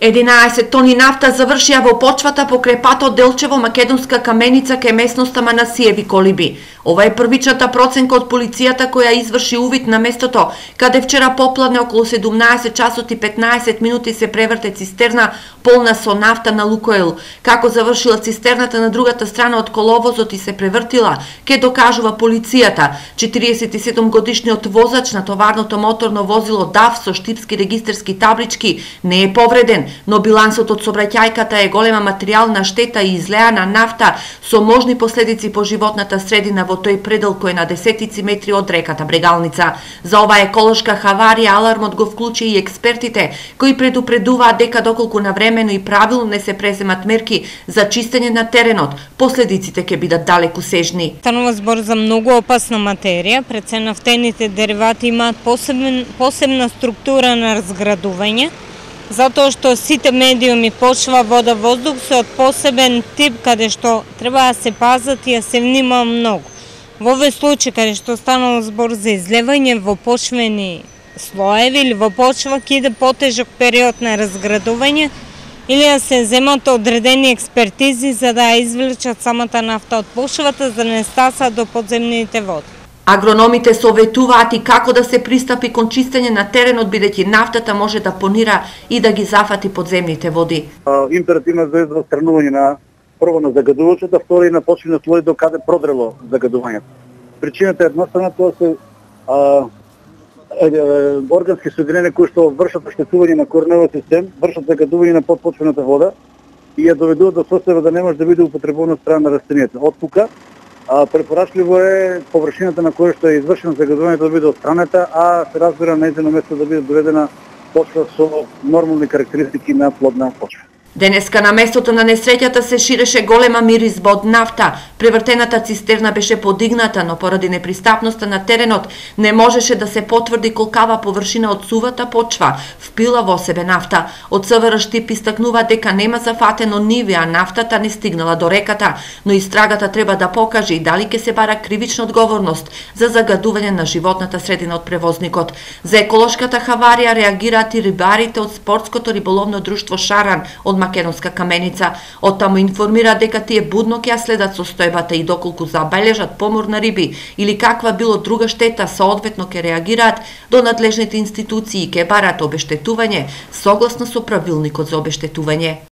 11 тони нафта завршија во почвата покрај патот Делчево Македонска каменица кај местноста Манасиеви колиби. Ова е првичната проценка од полицијата која изврши увид на местото, каде вчера попладне околу 17 часот и 15 минути се преврте цистерна полна со нафта на Лукойл. Како завршила цистерната на другата страна од коловозот и се превртила, ке докажува полицијата. 47 годишниот возач на товарното моторно возило ДАФ со штипски регистарски таблички не е повреден, но билансот од сообраќајката е голема материјална штета и излеана нафта со можни последици по животната средина во тој предел кој е на десетици метри од реката Брегалница. За оваа еколошка хаварија алармот го вклучи и експертите, кои предупредуваат дека доколку навремено и правилно не се преземат мерки за чистење на теренот, последиците ќе бидат далекусежни. Станува збор за многу опасна материја, пред се нафтените деривати имаат посебна структура на разградување, затоа што сите медиуми, почва, вода, воздух се од посебен тип каде што треба да се пазат и да се внимава многу. Во овој случај каде што станало збор за излевање во почвени слоеви или во почва, ќе иде потежок период на разградување или да се земат одредени експертизи за да извлечат самата нафта од почвата за да не стаса до подземните води. Агрономите советуваат и како да се пристапи кон чистење на теренот, бидејќи нафтата може да понира и да ги зафати подземните води. Императивна за отстранување на прво на загадувачата, второ и на почвени слои до каде продрело загадувањето. Причината е едноставна, тоа се органски соединенија кои што вршат оштетување на кореневиот систем, вршат загадување на подпочвената вода и ја доведуваат до состојба да не може да биде употребувана од страна на растенијата. Од тука препорачливо е површината на која што е извршено загадувањето да биде отстранета, а се разбира нејзино место да биде доведена почва со нормални карактеристики на плодна почва. Денеска на местото на несреќата се ширеше голема миризба од нафта. Превртената цистерна беше подигната, но поради непристапноста на теренот не можеше да се потврди колкава површина од сувата почва впила во себе нафта. Од СВР Штип истакнува дека нема зафатено ниви, а нафтата не стигнала до реката, но истрагата треба да покаже и дали ќе се бара кривична одговорност за загадување на животната средина од превозникот. За еколошката хаварија реагираат и рибарите од спортското риболовно друштво Шаран од Македонска каменица. Од таму информира дека тие будно ќе ја следат состојбата и доколку забележат помор на риби или каква било друга штета, соодветно ќе реагираат до надлежните институции и ќе бараат обештетување согласно со правилникот за обештетување.